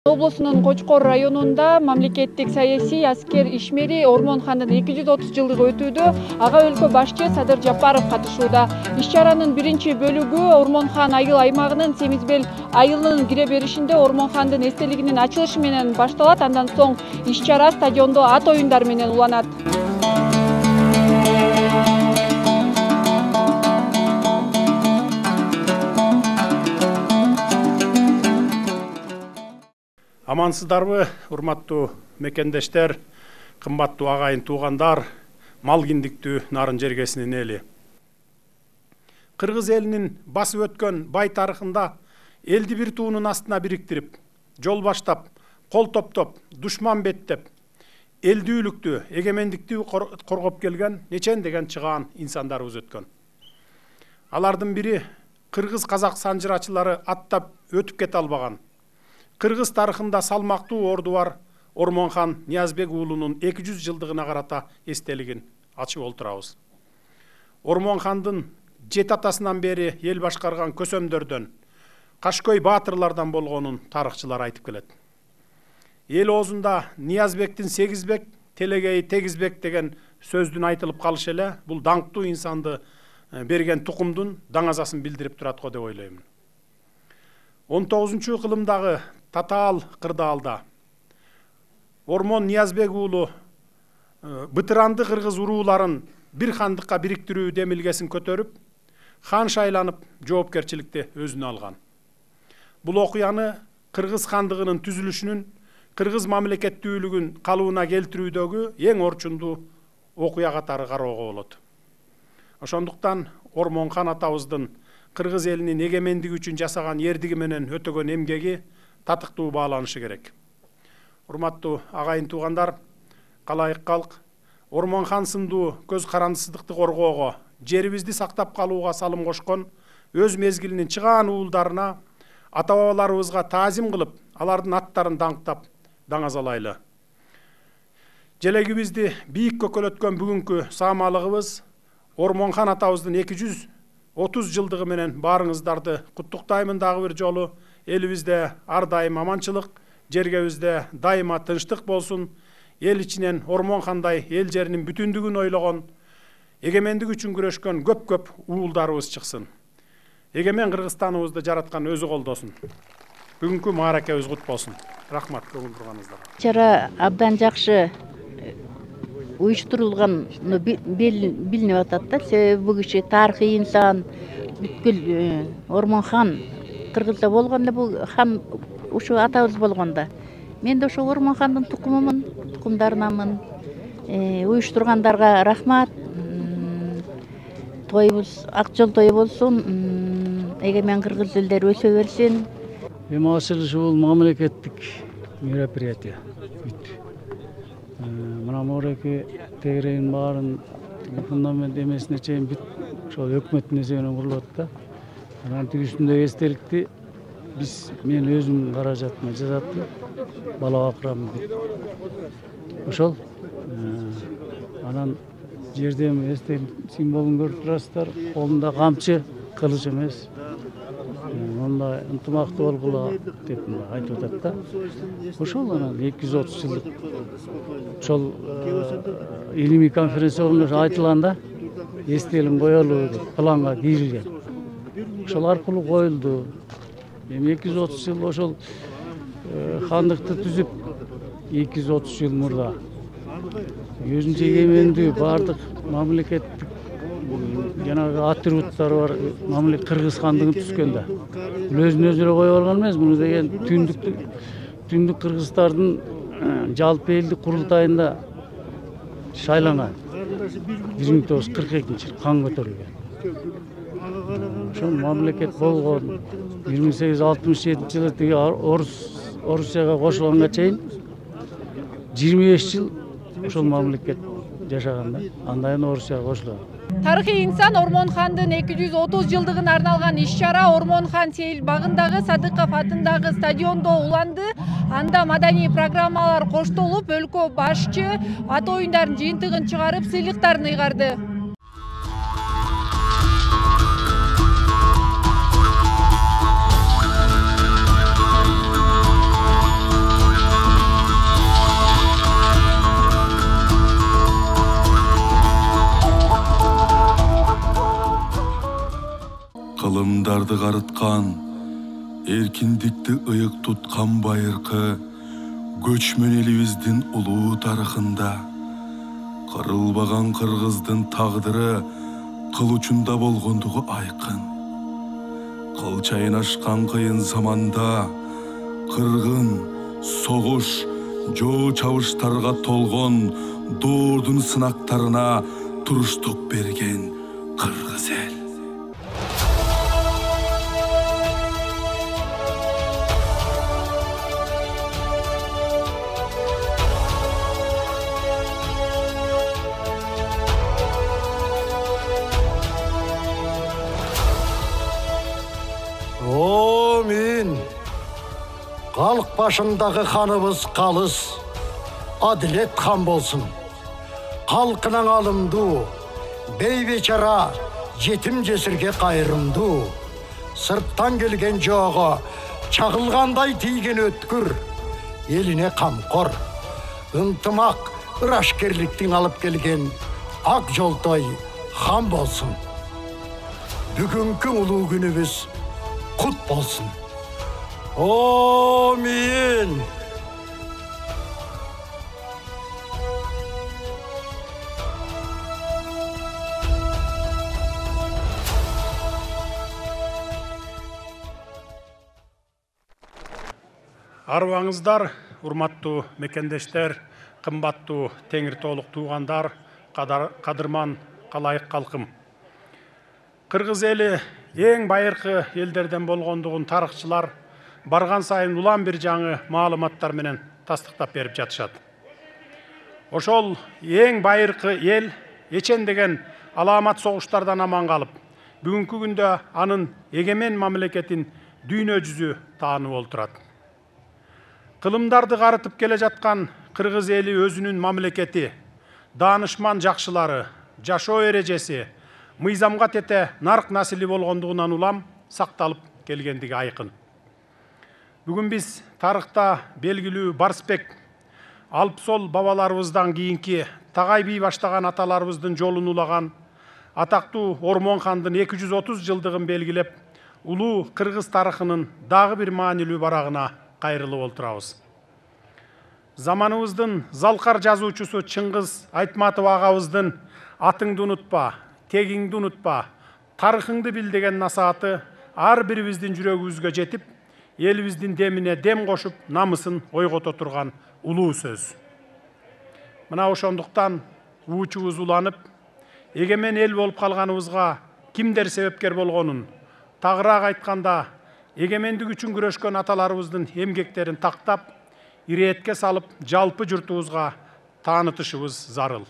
Облусунун Кочкор районунда мамлекеттик саясий аскер ишмери Ормонхандын 230 жылдыгы өтүүдө. Ага өлкө башчы Садыр Жапаров катышууда. Иш-чаранын биринчи бөлүгү Ормонхан айыл аймагынын Семизбел айылынын кире беришинде Ормонхандын эстелигинин ачылышы менен башталат. Андан соң иш-чара стадиондо ат оюндары менен уланат. Амансыздарбы, урматтуу мекендештер, кымбаттуу агайын туугандар, мал киндиктүү нарын жергесинин эли. Кыргыз элинин басып өткөн бай тарыхында элди бир туунун астына бириктирип, жол баштап, кол топтоп, душман беттеп, элдүүлүктү, эгемендикти коргоп келген нечен деген чыгаан инсандарыбыз өткөн. Алардын бири кыргыз казак санжырачылары аттап өтүп кете албаган. Кыргыз тарыхында салмактуу орду бар Ормонхан Ниязбек уулунун 200 жылдыгына карата эстелигин ачып олтурабыз. Ормонхандын жет атасынан бери эл башкарган көсөмдөрдөн, кашкөй баатырлардан болгонун тарыхчылар айтып келет. Эл оозунда Ниязбектин сегизбек, телегейи тегизбек деген сөздүн айтылып калышы эле бул даңктуу инсанды берген тукумдун даңазасын билдирип турат го деп ойлоймун. 19-кылымдагы Татаал кырдаалда Ормон Ниязбек уулу бытыранды кыргыз урууларын бир хандыкка бириктирүү демилгесин көтөрүп, хан шайланып, жоопкерчиликти өзүнө алган. Бул окуяны кыргыз хандыгынын түзүлүшүнүн, кыргыз мамлекеттүүлүгүн калыбына келтирүүдөгү эң орчундуу окуя катары кароого болот. Ошондуктан Ормонхан атабыздын кыргыз элинин эгемендиги үчүн жасаган эрдиги менен өтөгөн эмгеги татыктуу бааланышы керек. Урматтуу агайын туугандар, калайык калк, Ормонхан сындуу көз карандысыздыкты коргоого, жерибизди сактап калууга салым кошкон өз мезгилинин чыгаан уулдарына, ата-бабаларыбызга таазим кылып, алардын аттарын даңктап, даңазалайлы. Желегибизди бийик көкөлөткөн бүгүнкү саамалыгыбыз Ормонхан атабыздын 230 жылдыгы менен баарыңыздарды куттуктаймын дагы бир жолу. Элибизде ар дайым аманчылык, жергебизде дайыма тынчтык болсун. Эл ичинен Ормонхандай эл жеринин бүтүндүгүн ойлогон, эгемендик үчүн күрөшкөн көп уулдарыбыз чыксын. Эгемен Кыргызстаныбызды жараткан өзү колдосун. Бүгүнкү мааракебиз кут болсун. Рахмат көңүл бурганыңыздарга. Чара абдан жакшы уюштурулганын билинип атат да. Себеби бул киши тарыхый инсан, бүткүл Ормонхан Кыргызда болгондо бул хан ушу атабыз болгондо. Мен да ошо Ормонхандын тукумумун, тукумдарынамын. Уюштургандарга рахмат. Тоюбуз ак жол той болсун. Эгемен кыргыз элдери өсө берсин. Эми ачылышы бул мамлекеттик мероприятие. Мына мореки тегерегин баарын фундамент эмесине чейин бүт ошол өкмөттүн эсебинен курулат да. Анан тиги үстүндөгү эстеликти мен өзүм каражатыма жасаттым. Бала бакырам бүт. Ошол анан жерде эстелик символун көрүп турасыздар. Колунда камчы, кылыч эмес. Онда ынтымактуу болгула деп айтып атат да. Ошол анан 230 жылдык ошол илимий конференциялар айтылганда эстелик коелуу деп планга кирилген. Ошол аркылуу коюлду. Эми 230 жыл ошол хандыкты түзүп 230 жыл мурда өзүнчө эгемендүү баардык мамлекеттик жанагы атрибуттары бар мамлекет Кыргыз хандыгын түзгөндө. Бул өзүн өзү эле коюп алган эмес, муну деген түндүк кыргыздардын жалпы элдик курултайында шайланган. 1942-жылы кан көтөрүлгөн. Ошол мамлекет болгон 1867-жылы тиги Орусияга кошулганга чейин 25 жыл ошол мамлекет жашаган да. Андан кийин Орусияга кошулган. Тарыхый инсан Ормонхандын 230 жылдыгына арналган иш-чара Ормонхан сейил багындагы Садыков атындагы стадиондо уланды. Анда маданий программалар коштолуп, өлкө башчы ат оюндарын жыйынтыгын чыгарып, сыйлыктарын ыйгарды. кылымдарды карыткан, эркиндикти ыйык туткан байыркы көчмөн элибиздин улуу тарыхында кырылбаган кыргыздын тагдыры кыл учунда болгондугу айкын. Кыл чайнашкан кыйын заманда кыргын, согуш, жоо чабыштарга толгон доордун сынактарына туруштук берген кыргыз эл. Халык башындагы ханыбыз калыс, адилет хан болсун. Халкынан алымдуу, бейбечара, жетим жесирге кайрымдуу. Сырттан келген жоого чагылгандай тийген өткүр, элине камкор. Ынтымак, ырашкерликтин алып келген ак жолтой хан болсун. Бүгүнкү улуу күнүбүз кут болсун. Амин. Арыбаңыздар, урматтуу мекендештер, кымбаттуу теңир тоолук туугандар, кадырман калайык калкым. Кыргыз эли эң байыркы элдерден болгондугун тарыхчылар барган сайын улам бир жаңы маалыматтар менен тастыктап берип жатышат. Ошол эң байыркы эл эчендеген алаамат согуштардан аман калып, бүгүнкү күндө анын эгемен мамлекетин дүйнө жүзү таанып олтурат. Кылымдарды карытып келе жаткан кыргыз эли өзүнүн мамлекети, даанышман жакшылары, жашоо эрежеси, мыйзамга тете нарк насили болгондугунан улам сакталып келгендиги айкын. Бүгүн биз тарыхта белгилүү Барсбек, Алпсол бабаларыбыздан кийинки Тагай бий баштаган аталарыбыздын жолун улаган атактуу Ормон хандын 230 жылдыгын белгилеп, улуу кыргыз тарыхынын дагы бир маанилүү барагына кайрылып олтурабыз. Заманыбыздын залкар жазуучусу Чыңгыз Айтматов агабыздын атыңды унутпа, тегиңди унутпа, тарыхыңды бил деген насааты ар бирибиздин жүрөгүбүзгө жетип, элибиздин демине дем кошуп, намысын ойгото турган улуу сөз. Мына ошондуктан уучубуз уланып, эгемен эл болуп калганыбызга кимдер себепкер болгонун, тагыраак айтканда, эгемендик үчүн күрөшкөн аталарыбыздын эмгектерин тактап, иретке салып, жалпы журтубузга таанытышыбыз зарыл.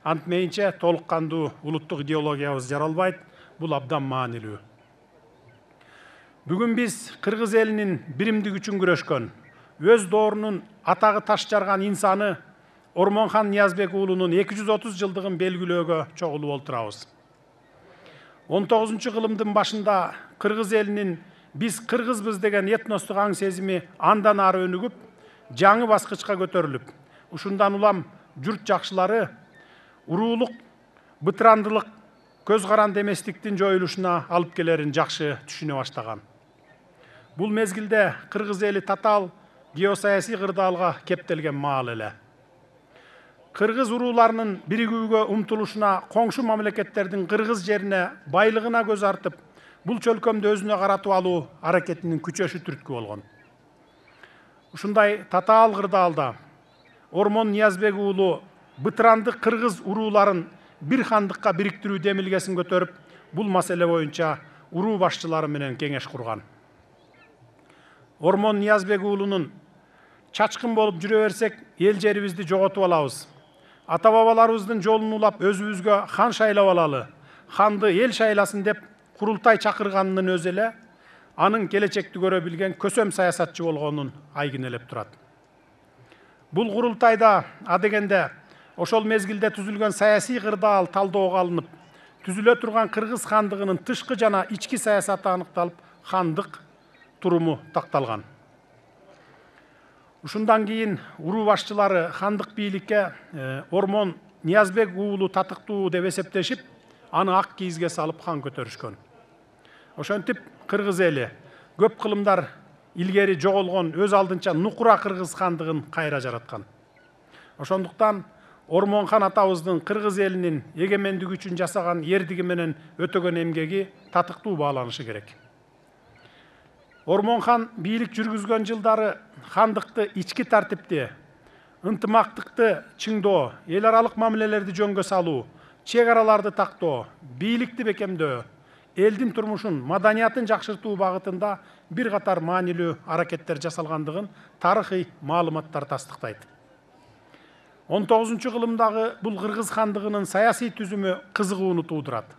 Антмейинче толук кандуу улуттук идеологиябыз жаралбайт, бул абдан маанилүү. Бүгүн биз кыргыз элинин биримдик үчүн күрөшкөн, өз доорунун атагы таш жарган инсаны Ормонхан Ниязбек уулунун 230 жылдыгын белгилөөгө чогулуп олтурабыз. 19-кылымдын башында кыргыз элинин биз кыргызбыз деген этностук аң сезими андан ары өнүгүп, жаңы баскычка көтөрүлүп, ушундан улам журт жакшылары уруулук, бытырандылык, көз каранды эместиктин жоюлушуна алып келерин жакшы түшүнө баштаган. Бул мезгилде кыргыз эли татаал геосаясий кырдаалга кептелген маал эле. Кыргыз урууларынын биригүүгө умтулушуна, коңшу мамлекеттердин кыргыз жерине, байлыгына көз артып, бул чөлкөмдү өзүнө каратып алуу аракетинин күчөшү түрткү болгон. Ушундай татаал кырдаалда Ормон Ниязбек уулу бытырандык кыргыз урууларын бир хандыкка бириктирүү демилгесин көтөрүп, бул маселе боюнча уруу башчылары менен кеңеш курган. Ормон Ниязбек уулунун чачкын болуп жүрө берсек, эл жерибизди жоготуп алабыз. Ата-бабаларыбыздын жолун улап өзүбүзгө хан шайлап алалы, ханды эл шайласын деп курултай чакырганынын өзү эле анын келечекти көрө билген көсөм саясатчы болгонун айгинелеп турат. Бул курултайда адегенде ошол мезгилде түзүлгөн саясий кырдаал талдоого алынып, түзүлө турган кыргыз хандыгынын тышкы жана ички саясаты аныкталып, хандык туруму такталган. Ушундан кийин уруу башчылары хандык бийликке Ормон Ниязбек уулу татыктуу деп эсептешип, аны ак кийизге салып хан көтөрүшкөн. Ошентип кыргыз эли көп кылымдар илгери жоголгон өз алдынча Нукура кыргыз хандыгын кайра жараткан. Ошондуктан Ормонхан атабыздын кыргыз элинин эгемендиги үчүн жасаган эрдиги менен өтөгөн эмгеги татыктуу бааланышы керек. Ормонхан бийлик жүргүзгөн жылдары хандыкты ички тартипти, ынтымактыкты чыңдоо, эл аралык мамилелерди жөнгө салуу, чек араларды тактоо, бийликти бекемдөө, элдин турмушун, маданиятын жакшыртуу багытында бир катар маанилүү аракеттер жасалгандыгын тарыхый маалыматтар тастыктайт. 19-кылымдагы бул кыргыз хандыгынын саясий түзүмү кызыгууну туудурат.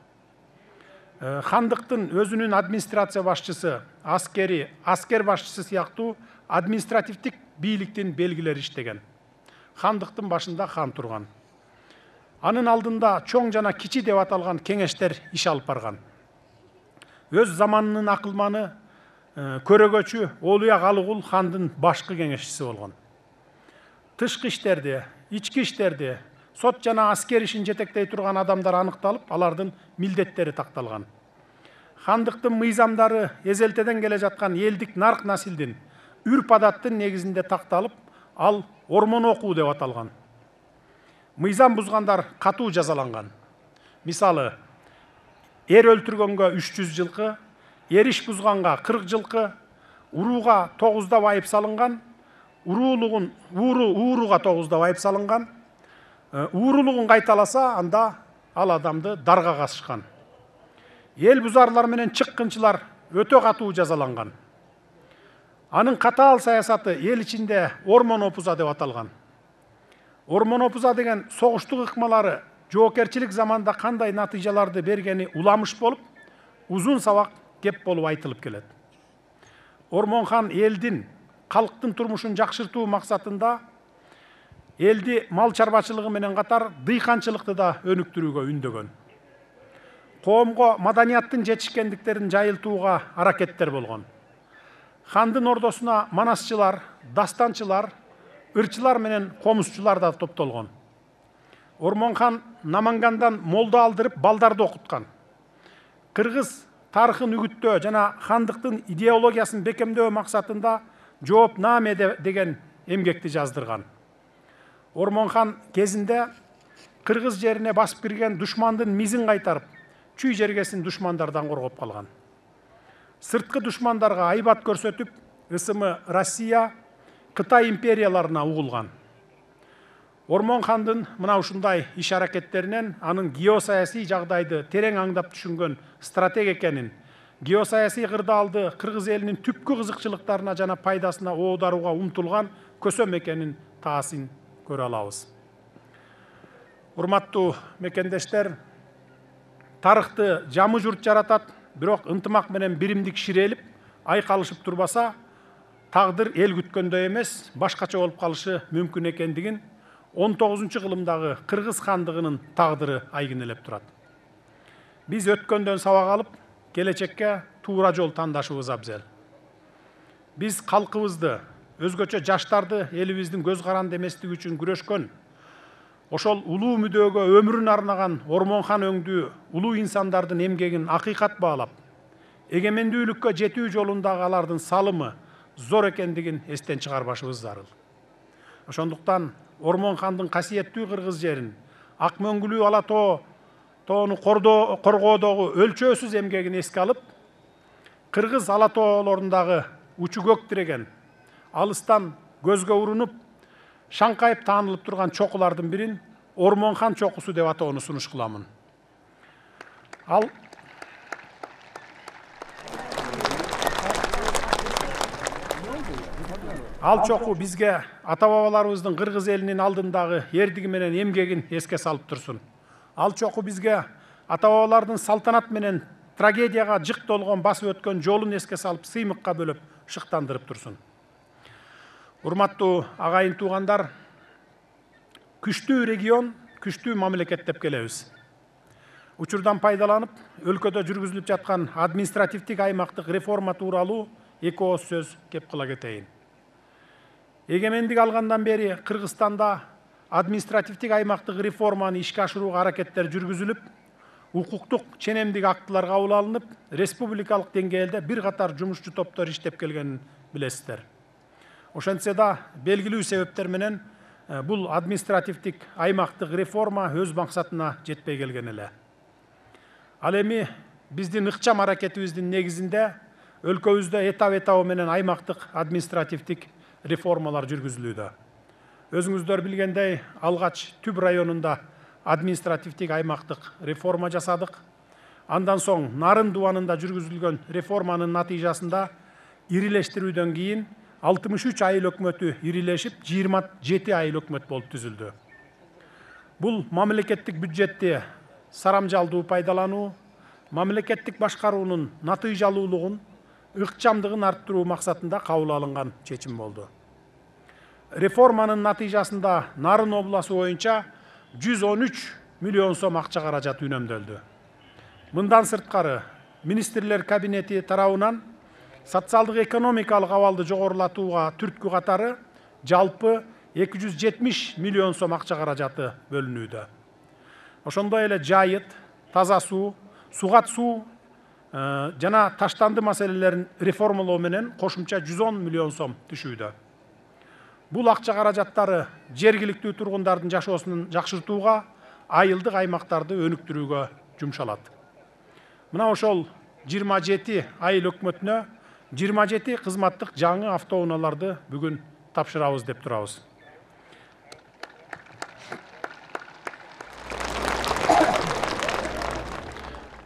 Хандыктын өзүнүн администрация башчысы, аскер башчысы сыяктуу административдик бийликтин белгилери иштеген. Хандыктын башында хан турган. Анын алдында чоң жана кичи деп аталган кеңештер иш алып барган. Өз заманынын акылманы, көрөгөчү Олуя Галыгул хандын башкы кеңешчиси болгон. Тышкы иштерди, ички иштерди, сот жана аскер ишин жетектей турган адамдар аныкталып, алардын милдеттери такталган. Хандыктын мыйзамдары эзелтеден келе жаткан элдик нарк насилдин, үрп адаттын негизинде такталып, ал ормон окуу деп аталган. Мыйзам бузгандар катуу жазаланган. Мисалы, эр өлтүргөнгө 300 жылкы, эр иш бузганга 40 жылкы, урууга 9 айып салынган, ууруга 9 айып салынган, уурулугун кайталаса, анда ал адамды дарга касышкан. Эл бузарлар менен чыккынчылар өтө катуу жазаланган. Анын катаал саясаты эл ичинде ормон опуза деп аталган. Ормон опуза деген согуштук ыкмалары жоокерчилик заманда кандай натыйжаларды бергени уламыш болуп, узун сабак кеп болуп айтылып келет. Ормонхан элдин, калктын турмушун жакшыртуу максатында элди мал чарбачылыгы менен катар дыйканчылыкты да өнүктүрүүгө үндөгөн. Коомго маданияттын жетишкендиктерин жайылтууга аракеттер болгон. Хандын ордосуна манасчылар, дастанчылар, ырчылар менен комузчулар да топтолгон. Ормонхан Намангандан молда алдырып балдарды окуткан. Кыргыз тарыхын үгүттөө жана хандыктын идеологиясын бекемдөө максатында Жоопнаме деген эмгекти жаздырган. Ормонхан кезинде кыргыз жерине басып кирген душмандын мизин кайтарып, чүй жергесин душмандардан коргоп калган. Сырткы душмандарга айбат көрсөтүп, ысымы Россия, Кытай империяларына угулган. Ормонхандын мына ушундай иш аракеттеринен анын геосаясий жагдайды терең аңдап түшүнгөн стратег экенин, геосаясий кырдаалды кыргыз элинин түпкү кызыкчылыктарына жана пайдасына оодарууга умтулган көсөм экенин таасын көрө алабыз. Урматтуу мекендештер, тарыхты жамы журт жаратат, бирок ынтымак менен биримдик ширелип, айкалышып турбаса, тагдыр эл күткөндөй эмес, башкача болуп калышы мүмкүн экендигин 19-кылымдагы кыргыз хандыгынын тагдыры айгинелеп турат. Биз өткөндөн сабак алып, келечекке туура жол тандашыбыз абзел. Биз калкыбызды, өзгөчө жаштарды элибиздин көз каранды эместиги үчүн күрөшкөн, ошол улуу мүдөөгө өмүрүн арнаган Ормонхан өңдүү улуу инсандардын эмгегин акыйкат баалап, эгемендүүлүккө жетүү жолундагы алардын салымы зор экендигин эстен чыгарбашыбыз зарыл. Ошондуктан Ормонхандын касиеттүү кыргыз жерин, ак мөңгүлүү ала тоону коргоодогу өлчөөсүз эмгегин эске алып, кыргыз ала тоолорундагы учу көк тиреген, алыстан көзгө урунуп, шаңкайып таанылып турган чокулардын бирин Ормонхан чокусу деп атоону сунуш кыламын. Ал чоку бизге ата-бабаларыбыздын кыргыз элинин алдындагы эрдиги менен эмгегин эске салып турсун. Ал чоку бизге ата-бабалардын салтанат менен трагедияга жык толгон басып өткөн жолун эске салып, сыймыкка бөлөп шыктандырып турсун. Урматтуу агайын туугандар, күчтүү регион, күчтүү мамлекет деп келебиз. Учурдан пайдаланып, өлкөдө жүргүзүлүп жаткан административдик аймактык реформа тууралуу эки ооз сөз кеп кыла кетейин. Эгемендик алгандан бери Кыргызстанда административдик аймактык реформаны ишке ашырууга аракеттер жүргүзүлүп, укуктук ченемдик актылар кабыл алынып, республикалык деңгээлде бир катар жумушчу топтор иштеп келгенин билесиздер. Ошентсе да белгилүү себептер менен бул административдик аймактык реформа өз максатына жетпей келген эле. Ал эми биздин ыкчам аракетибиздин негизинде өлкөбүздө этап менен аймактык административдик реформалар жүргүзүлүүдө. Өзүңүздөр билгендей, алгач Түп районунда административдик аймактык реформа жасадык. Андан соң Нарын дубанында жүргүзүлгөн реформанын натыйжасында ирилештирүүдөн кийин 63 айыл өкмөтү ирилешип, 27 айыл өкмөт болуп түзүлдү. Бул мамлекеттик бюджетти сарамжалдуу пайдалануу, мамлекеттик башкаруунун натыйжалуулугун, ыкчамдыгын арттыруу максатында кабыл алынган чечим болду. Реформанын натыйжасында Нарын обласу боюнча 113 миллион сом акча каражат үнөмдөлдү. Мындан сырткары, министрлер кабинети тарабынан социалдык экономикалык абалды жогорулатууга түрткү катары жалпы 270 миллион сом акча каражаты бөлүнүүдө. Ошондой эле жайыт, таза суу, сугат суу жана таштанды маселелерин реформалоо менен кошумча 110 миллион сом түшүүдө. Бул акча каражаттары жергиликтүү тургундардын жашоосун жакшыртууга, айылдык аймактарды өнүктүрүүгө жумшалат. Мына ошол 27 айыл өкмөтүнө 27 кызматтык жаңы автоунааларды бүгүн тапшырабыз деп турабыз.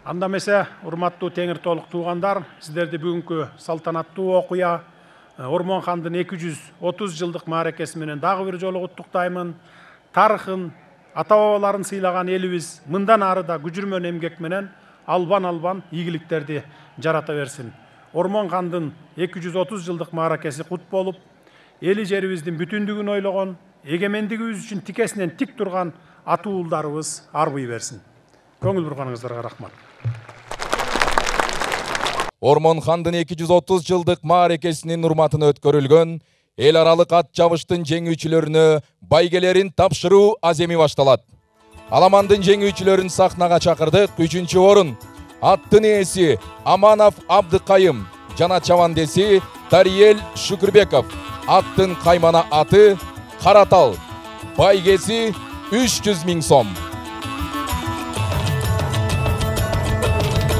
Анда эмесе, урматтуу теңир толук туугандар, сиздерди бүгүнкү салтанаттуу окуя Ормон хандын 230 жылдык мааракеси менен дагы бир жолу куттуктаймын. Тарыхын, ата-бабаларын сыйлаган элибиз мындан ары да күжүрмөн эмгек менен албан ийгиликтерди жарата берсин. Ормон хандын 230 жылдык мааракеси кут болуп, эли жерибиздин бүтүндүгүн ойлогон, эгемендигибиз үчүн тикесинен тик турган ата уулдарыбыз арбый берсин. Көңүл бурганыңыздарга рахмат. Ормон хандын 230 жылдык мааракесинин урматына өткөрүлгөн эл аралык ат жабыштын жеңүүчүлөрүнө байгелерин тапшыруу аземи башталат. Аламандын жеңүүчүлөрүн сахнага чакырдык. 3-чү орун аттын ээси Аманов Абдыкайым жана чабандеси Тариел Шүкүрбеков. Аттын каймана аты Каратал. Байгеси 300 000 сом.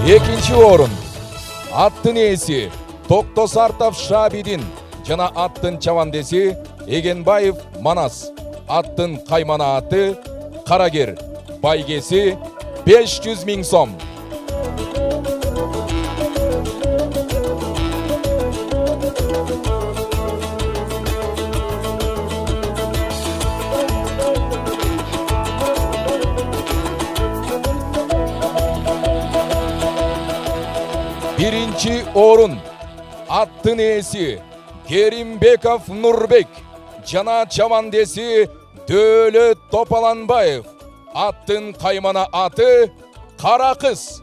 2-чи орун аттын ээси Токтосартов Шабидин жана аттын чабандеси Эгенбаев Манас. Аттын каймана аты Карагер. Байгеси 500 000 сом. Биринчи орун аттын ээси Керимбеков Нурбек жана чабандеси Дөөлөт Топаланбаев. Аттын каймана аты Кара кыз.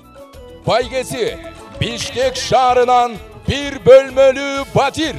Байгеси Бишкек шаарынан бир бөлмөлүү батир.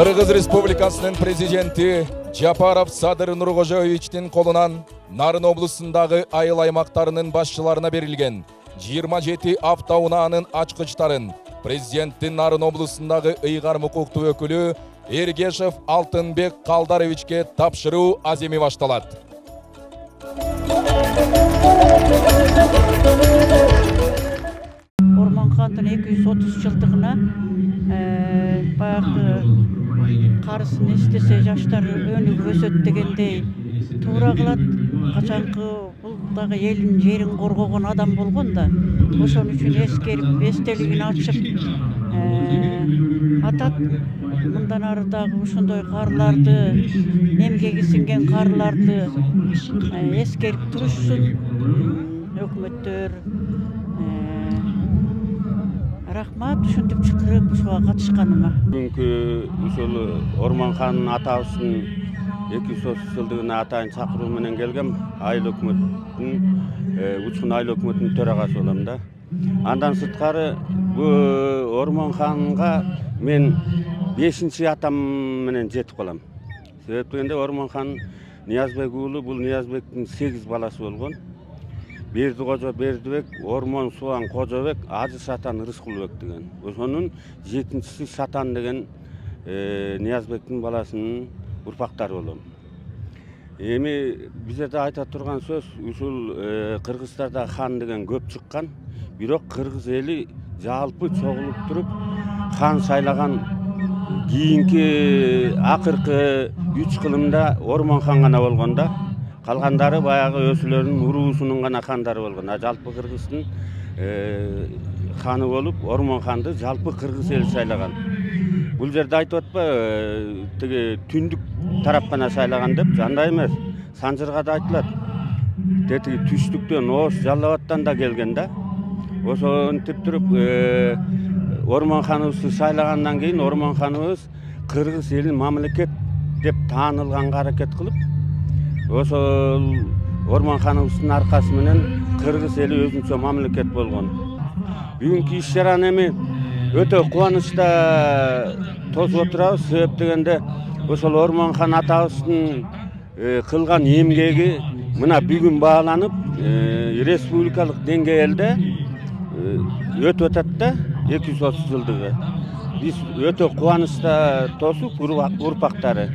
Кыргыз Республикасынын президенти Жапаров Садыр Нуркожоевичтин колунан Нарын облусундагы айыл аймактарынын башчыларына берилген 27 автоунаанын ачкычтарын президенттин Нарын облусундагы ыйгар укуктуу өкүлү Эргешев Алтынбек Калдаровичке тапшыруу аземи башталат. Ормон хандын 230 жылдыгына баягы карысын эстесе жаштар өнүгүп өсөт дегендей туура кылат. Качанкы бул дагы элин жерин коргогон адам болгон да, ошон үчүн эскерип, эстелигин ачып атат. Мындан ары дагы ошондой карларды, эмгеги сиңген карларды эскерип турушсун өкмөттөр, Рахмат, ушинтип чакырып ушуга катышканыма. Бүгүнкү ушул Ормонхан атабыздын 230 жылдыгына атайын чакыруу менен келгем. Айыл өкмөтүнүн Учкун айыл өкмөтүнүн төрагасы болом да. Андан сырткары бул Ормонханга мен 5-чи атам менен жетип калам. Себеп дегенде Ормонхан Ниязбек уулу, бул Ниязбектин 8 баласы болгон. Бердикожо Бердибек, Ормон Субан Кожобек, Ажы Сатан Рыскулбек деген. Ошонун 7-чиси Сатан деген Ниязбектин баласынын урпактары болом. Эми бизерде айта турган сөз, ушул Кыргызстарда хан деген көп чыккан, бирок кыргыз эли жалпы чогулуп туруп хан сайлаган кийинки акыркы 3 кылымда Ормонхан гана болгон да. Калгандары баягы өзүлөрүнүн уруусунун гана хандары болгон. Жалпы Кыргыздын ханы болуп, Ормонханды жалпы кыргыз эли сайлаган. Бул жерде айтып атпайбы, тиги түндүк тарап гана сайлаган деп, андай эмес. Санжырга да айтылат. Тетиги түштүктөн, Ош, Жалал Абадтан да келген да. Ошентип туруп Ормонханыбызды сайлагандан кийин Ормонханыбыз кыргыз элин мамлекет деп таанылганга аракет кылып, ошол Ормонханыбыздын аркасы менен кыргыз эли өзүнчө мамлекет болгон. Бүгүнкү иш чараны эми өтө кубанычта тосуп отурабыз. Себеп дегенде ошол Ормонхан атабыздын кылган эмгеги мына бүгүн бааланып, республикалык деңгээлде өтүп атат да, 230 жылдыгы. Биз өтө кубанычта тосуп, урпактары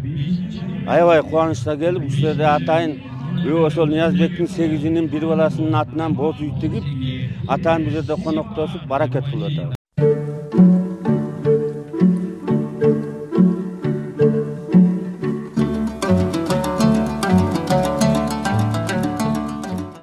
аябай кубанычта келип, ушул жерде атайын ошол Ниязбектин 8-инин бир баласынын атынан боз үй тигип, атайын бул жерде коноктошуп, баракет кылып атабыз.